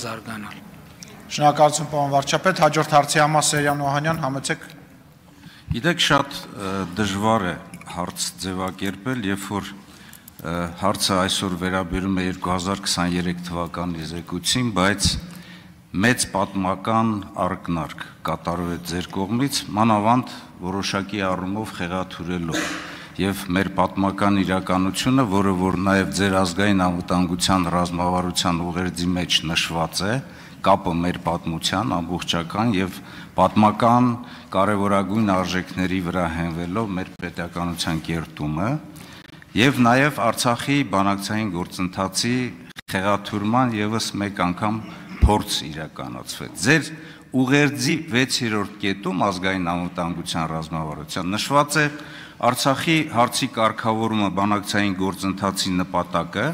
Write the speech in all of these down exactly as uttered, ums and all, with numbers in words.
զարգանալ։ Շնորհակալություն պարոն վարչապետ, հաջորդ հարցի համար Սերյան Օհանյան, համեցեք։ Գիտեք, շատ դժվար է հարց ձևակերպել, երբ որ հարցը այսօր վերաբերում է երկու հազար քսաներեք թվականի զեկույցին, բայց մեծ պատմական ակնարկ կատարվեց ձեր կողմից, մանավանդ որոշակի առումով խեղաթյուրելով եւ մեր պատմական իրականությունը, որը որ նաեւ ձեր ազգային անվտանգության ռազմավարության ուղերձի մեջ նշված է, կապը մեր պատմության ամբողջական եւ պատմական կարևորագույն արժեքների վրա հենվելով մեր պետականության կերտումը եւ նաեւ Արցախի բանակցային գործընթացի խեղաթյուրման եւս մեկ անգամ փորձ իրականացվեց։ Ձեր ուղերձի վեցերորդ կետում ազգային անվտանգության ռազմավարության նշված է Արցախի հարցի կարգավորումը բանակցային գործընթացի նպատակը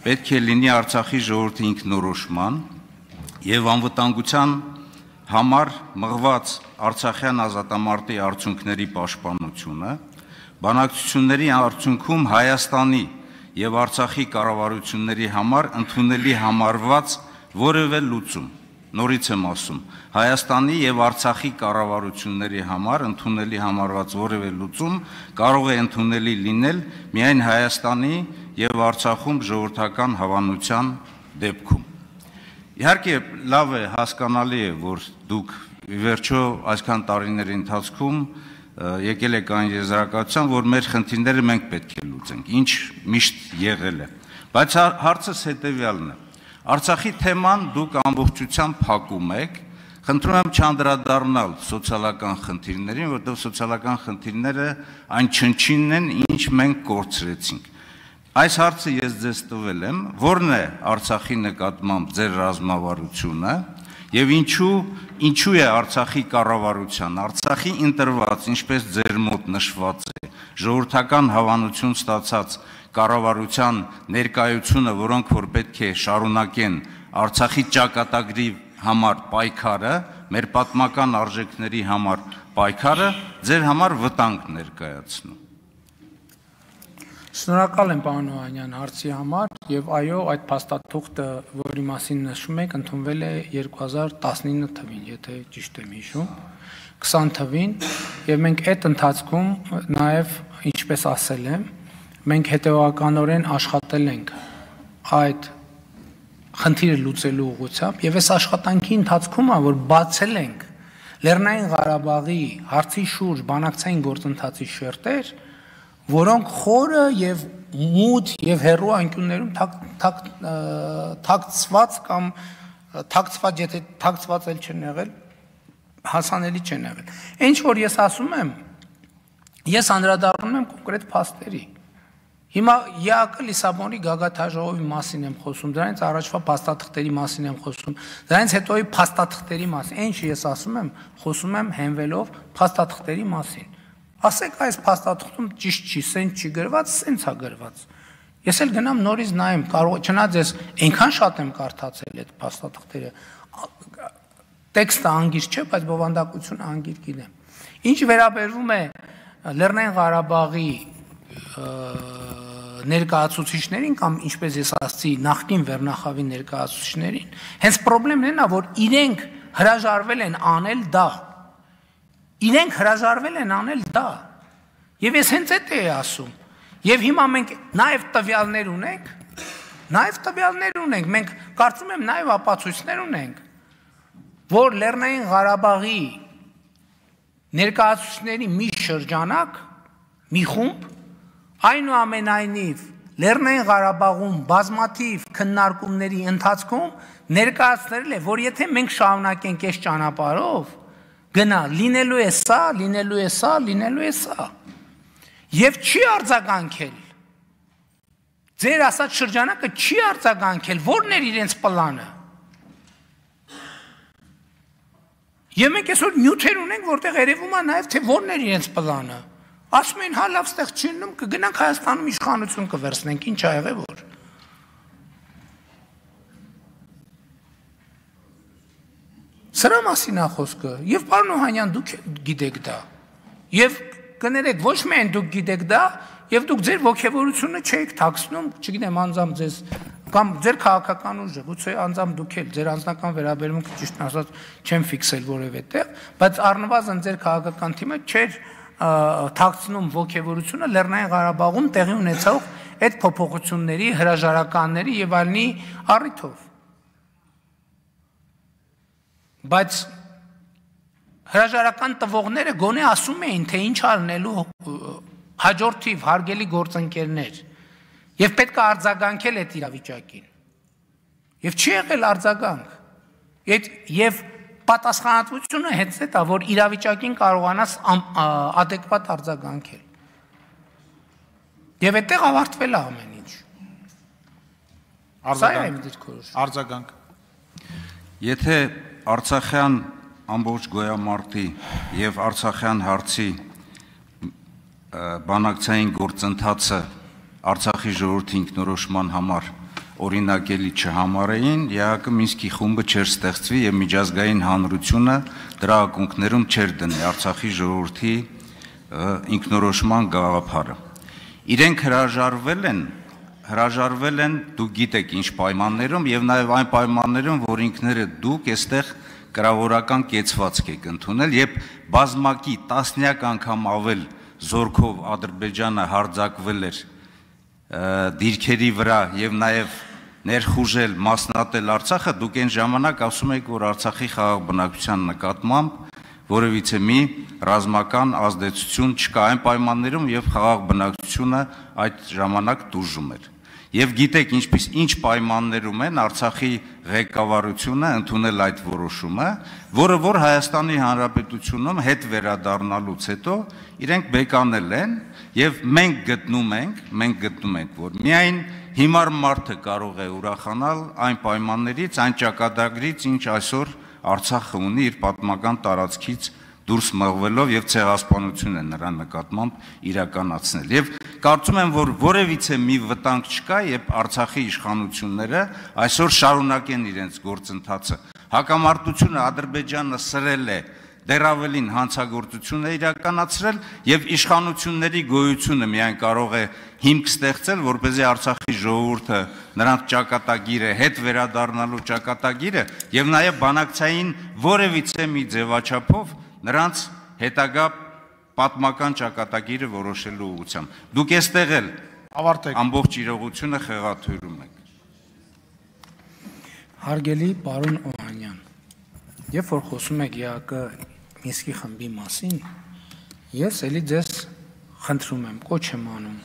պետք է լինի Արցախի ժողովրդի ինքնորոշման եւ անվտանգության համար մղված Արցախյան ազատամարտի արդյունքների պաշտպանությունը, բանակցությունների արդյունքում Հայաստանի եւ Արցախի կառավարությունների համար ընդունելի համարված որևէ լուծում, նորից եմ ասում, Հայաստանի եւ Արցախի կառավարությունների համար ընդունելի համարված որևէ լուծում կարող է ընդունելի լինել միայն Հայաստանի եւ Արցախում ժողովրդական հավանության դեպքում։ Իհարկե, լավ է, հասկանալի է, որ դուք ի վերջո այսքան տարիների ընթացքում եկել եք այն եզրակացության, որ մեր խնդիրները մենք պետք է լուծենք, ինչ միշտ եղել է։ Բայց հարցս հետեւյալն է. Արցախի թեման դուք ամբողջությամբ փակում եք, խնդրում եմ չանդրադառնալ սոցիալական խնդիրներին, որտեղ սոցիալական խնդիրները այն չնչինն են, ինչ մենք կորցրեցինք։ Այս հարցը ես ձեզ տվել եմ, որն է Արցախի նկատմամբ ձեր ռազմավարությունը եւ ինչու ինչու է Արցախի կառավարության, Արցախի ընտրված, ինչպես ձեր մոտ նշված է, ժողովրդական հավանություն ստացած կառավարության ներկայությունը, որոնք որ պետք է շարունակեն Արցախի ճակատագրի համար պայքարը, մեր պատմական արժեքների համար պայքարը, ձեր համար վտանգ ներկայացնում։ Շնորհակալ եմ պարոն Օհանյան հարցի համար եւ այո, այդ փաստաթուղթը, որի մասին նշում եք, ընդունվել է երկու հազար տասնինը թվին, եթե ճիշտ եմ հիշում, քսան թվին, եւ մենք այդ ընթացքում նաեւ, ինչպես ասել եմ, մենք հետեւականորեն աշխատել ենք այդ խնդիրը լուծելու ուղղությամբ եւ այս աշխատանքի ընթացքում է, որ բացել ենք Լեռնային Ղարաբաղի հարցի շուրջ բանակցային գործընթացի շերտեր, որոնք խորը եւ մութ եւ հեռու անկյուններում թաքցված կամ թաքցված, եթե թաքցված էլ չեն եղել, հասանելի չեն եղել։ Ինչ որ ես ասում եմ, ես անդրադառնում եմ կոնկրետ փաստերի։ Հիմա ԵԱԿ Լիսաբոնի գագաթաժողովի մասին եմ խոսում, դրանից առաջվա փաստաթղթերի մասին եմ խոսում, դրանից հետոյի փաստաթղթերի մասին։ Ինչ ես ասում եմ, խոսում եմ հենվելով փաստաթղթերի մասին։ Ասեք այս փաստաթղթում ճիշտ չի, սենց չի գրված, սենց է գրված։ Ես էլ գնամ նորից նայեմ, կարող չնայած ես այնքան շատ եմ կարդացել այդ փաստաթղթերը։ Տեքստը անգիր չէ, բայց բովանդակությունը անգիր գիտեմ։ Ինչ վերաբերվում է Լեռնային Ղարաբաղի ներկայացուցիչներին կամ ինչպես ես ասացի նախկին վերնախավի ներկայացուցիչներին, հենց խնդիրն է նա, որ իրենք հրաժարվել են անել դա։ Իրենք հրաժարվել են անել դա։ Եվ ես հենց այդ էի ասում։ Եվ հիմա մենք նաև տվյալներ ունենք, նաև տվյալներ ունենք, մենք կարծում եմ նաև ապացույցներ ունենք, որ Լեռնային Ղարաբաղի ներկայացուցիչների մի շրջանակ, մի խումբ, այնուամենայնիվ Լեռնային Ղարաբաղում բազմաթիվ քննարկումների ընթացքում ներկայացնել է, որ եթե մենք շարունակենք այս ճանապարհով, գնա, լինելու է սա, լինելու է սա, լինելու է սա։ Եվ չի արձագանքել։ Ձեր ասած շրջանակը չի արձագանքել, որն էր իրենց պլանը։ Եվ մենք այսօր նյութեր ունենք, որտեղ երևում է նաև, թե որն էր իրենց պլանը։ Ասում են, հա լավ ստեղ չի լինում, կգնանք Հայաստանում իշխանություն կվերցնենք, ինչ ա եղել որ։ Սրա մասին է խոսքը, եւ պարոն Օհանյան դուք գիտեք դա։ Եվ կներեք, ոչ միայն դուք գիտեք դա, եւ դուք ձեր ողջավորությունը չեք թաքցնում, չգիտեմ, անձամբ ձեզ Կամ ձեր քաղաքական ուժը, գուցե անձամբ դուք էլ ձեր անձնական վերաբերմունքը ճիշտ ասած չեմ ֆիքսել որևէ տեղ, բայց առնվազն ձեր քաղաքական թիմը չէր թաքցնում ոգևորությունը Լեռնային Ղարաբաղում տեղի ունեցող այդ փոփոխությունների, հրաժարականների եւ այլնի առիթով։ Բայց հրաժարական տվողները գոնե ասում էին, թե ինչ արնելու հաջորդիվ հարգելի գործընկերներ, եւ պետք է արձագանքել այդ իրավիճակին։ Եվ չի եղել արձագանք։ Եվ պատասխանատվությունը հենց այդ է, որ իրավիճակին կարողանաս adekvat արձագանքել։ Եվ այդտեղ ավարտվել է ամեն ինչ։ Արձագանք։ Եթե Արցախյան ամբողջ գոյամարտի եւ Արցախյան հարցի բանակցային գործընթացը Արցախի ժողովրդի ինքնորոշման համար օրինակելի չհամարեին, ԵԱՀԿ Մինսկի խումբը չէր ստեղծվի եւ միջազգային հանրությունը դրա ակունքներում չէր դնի Արցախի ժողովրդի ինքնորոշման գաղափարը։ Իրենք հրաժարվել են, հրաժարվել են, դուք գիտեք ինչ պայմաններում եւ նաեւ այն պայմաններում, որ ինքները դուք այստեղ կրավորական կեցվածք եք ընդունել եւ բազմակի տասնյակ անգամ ավել զորքով Ադրբեջանը հարձակվել էր դիրքերի վրա եւ նաեւ ներխուժել մասնատել Արցախը, դուք այն ժամանակ ասում եք, որ Արցախի խաղաղ բնակչության նկատմամբ որևիցե մի ռազմական ազդեցություն չկա այն պայմաններում եւ խաղաղ բնակչությունը այդ ժամանակ տուժում էր։ Եվ գիտեք ինչպես ինչ պայմաններում են Արցախի ղեկավարությունը ընդունել այդ որոշումը, որը որ Հայաստանի Հանրապետությունում հետ վերադառնալուց հետո իրենք բեկանել են եւ մենք գտնում ենք, մենք գտնում ենք, որ միայն հիմար մարդը կարող է ուրախանալ այն պայմաններից, այն ճակատագրից, ինչ այսօր Արցախը ունի իր պատմական տարածքից դուրս մղվելով եւ ցեղասպանություն է նրա նկատմամբ իրականացնել։ Եվ կարծում եմ, որ որևիցե մի վտանգ չկա, երբ Արցախի իշխանությունները այսօր շարունակեն իրենց գործընթացը։ Հակամարտությունը Ադրբեջանը սրել է, դեռ ավելին հանցագործություն է իրականացրել եւ իշխանությունների գոյությունը միայն կարող է հիմք ստեղծել, որպեսզի Արցախի ժողովուրդը նրանց ճակատագիրը հետ վերադառնալու ճակատագիրը եւ նաեւ բանակցային որևիցե մի ձևաչափով նրանց հետագա պատմական ճակատագիրը որոշելու ուղղությամբ։ Դուք այստեղ էլ ավարտեք ամբողջ իրողությունը խեղաթյուրում եք։ Հարգելի պարոն Օհանյան, երբ որ խոսում եք ԵԱՀԿ Մինսկի խմբի մասին, ես էլի ձեզ խնդրում եմ, կոչ եմ անում,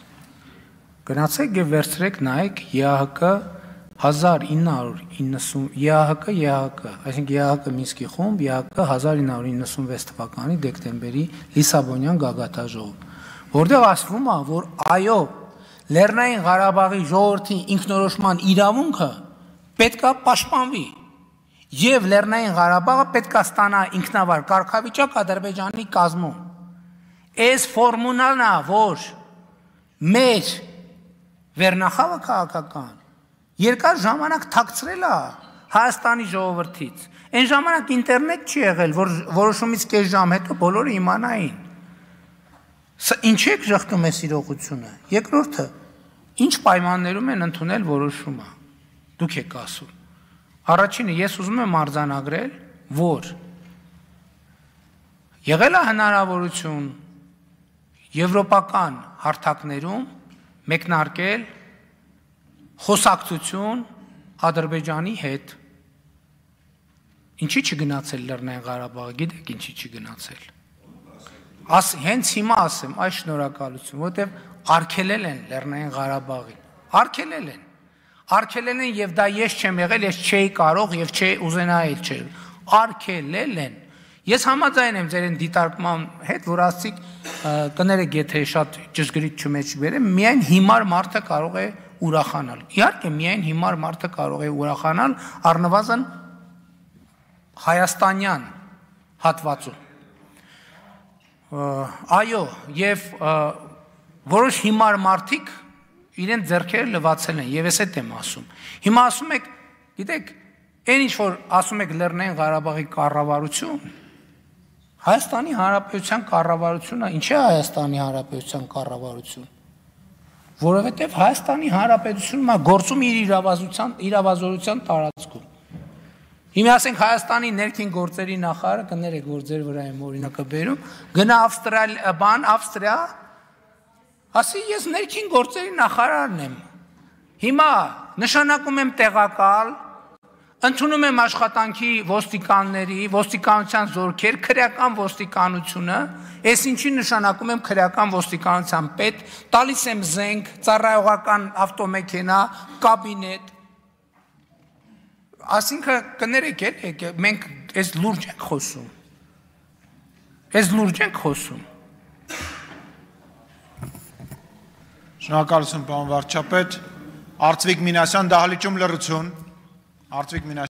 գնացեք եւ վերցրեք նայեք ԵԱՀԿ հազար ինը հարյուր իննսուն ԵԱՀԿ ԵԱՀԿ, այսինքն ԵԱՀԿ Մինսկի խումբ, ԵԱՀԿ հազար ինը հարյուր իննսունվեց թվականի դեկտեմբերի Լիսաբոնյան գագաթաժողով, որտեղ ասվում է, որ այո, Լեռնային Ղարաբաղի ժողովրդի ինքնորոշման իրավունքը պետք է պաշտպանվի եւ Լեռնային Ղարաբաղը պետք է ստանա ինքնավար կարգավիճակ Ադրբեջանի կազմում։ Այս ֆորմուլան է, որ մեր վերնախավը քաղաքական երկար ժամանակ թաքցրել է Հայաստանի ժողովրդից։ Այն ժամանակ ինտերնետ չի եղել, որ որոշումից կես ժամ հետո բոլորը իմանային։ Սա ինչ եք ժխտում այս իրողությունը։ Երկրորդը, ինչ պայմաններում են ընդունել որոշումը։ Դուք եք ասում։ Առաջինը ես ուզում եմ արձանագրել, որ եղել է հնարավորություն եվրոպական հարթակներում մեկնարկել խոսակցություն Ադրբեջանի հետ։ Ինչի՞ չգնացել Լեռնային Ղարաբաղը, գիտեք ինչի՞ չգնացել։ Աս հենց հիմա ասեմ, այս շնորհակալություն, որտեվ արգելել են Լեռնային Ղարաբաղին։ Արգելել են։ Արգելել են եւ դա ես չեմ եղել, ես չէի կարող եւ չէի ուզենայել չէ։ Արգելել են։ Ես համաձայն եմ ձեր դիտարկման հետ, որ ասիկ կներեք, եթե շատ ճշգրիտ չմեջ բերեմ, միայն հիմար մարդը կարող է ուրախանալ։ Իհարկե, միայն հիմար մարդը կարող է ուրախանալ առնվազն հայաստանյան հատվածում։ Այո, եւ որոշ հիմար մարդիկ իրեն ձեռքերը լվացել են, եւ ես այդ եմ ասում։ Հիմա ասում եք, գիտեք, այն ինչ որ ասում եք Լեռնային Ղարաբաղի կառավարություն, Հայաստանի Հանրապետության կառավարությունը, ինչ է Հայաստանի Հանրապետության կառավարություն։ որովհետև Հայաստանի Հանրապետությունն է գործում իր իրավազորության իրավազորության տարածքում։ Հիմա ասենք Հայաստանի ներքին գործերի նախարարը կներեք, որ ձեր վրա եմ օրինակը բերում, գնա Ավստրալ բան Ավստրիա, ասի ես ներքին գործերի նախարարն եմ։ Հիմա նշանակում եմ տեղակալ, ընդունում եմ աշխատանքի ոստիկանների, ոստիկանության զորքեր, քրեական ոստիկանությունը, ես ինչի նշանակում եմ քրեական ոստիկանության պետ, տալիս եմ զենք, ծառայողական ավտոմեքենա, կաբինետ։ Այսինքն կներեք էլ, մենք այս լուրջ ենք խոսում։ Այս լուրջ ենք խոսում։ Շնորհակալություն, պարոն վարչապետ։ Արծվիկ Մինասյան, դահլիճում լռություն։ Արծվիկ Մինասյան